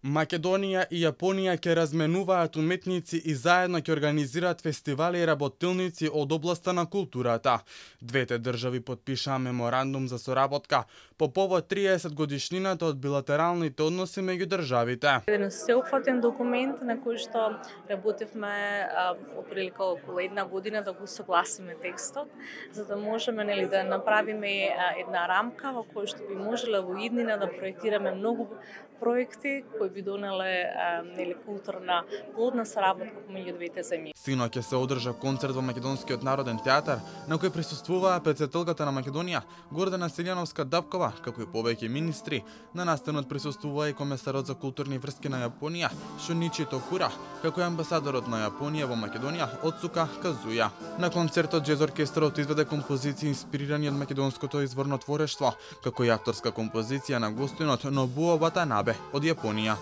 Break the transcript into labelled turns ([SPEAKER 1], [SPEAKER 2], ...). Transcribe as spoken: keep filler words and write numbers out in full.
[SPEAKER 1] Македонија и Јапонија ќе разменуваат уметници и заедно ќе организираат фестивали и работилници од областа на културата. Двете држави потпишаа меморандум за соработка по повод триесет годишнината од билатералните односи меѓу државите.
[SPEAKER 2] Еден сеопфатен документ на кој што работевме отприлика околу една година да го согласиме текстот, за да можеме нели да направиме една рамка во која што би можеле во иднина да проектираме многу проекти кои би донеле нели културна плодна соработка помеѓу двете земји.
[SPEAKER 1] Синоќ ќе се одржа концерт во Македонскиот народен театар, на кој присуствуваа претседателката на Македонија Гордана Селјановска-Дапкова, како и повеќе министри. На настанот присуствува и комесарот за културни врски на Јапонија Шуничи Токура, како и амбасадорот на Јапонија во Македонија Оцука Казуја. На концертот џез оркестрот изведе композиции инспирирани од македонското изворно творештво, како и авторска композиција на гостинот Нобуо Ватанабе од Јапонија.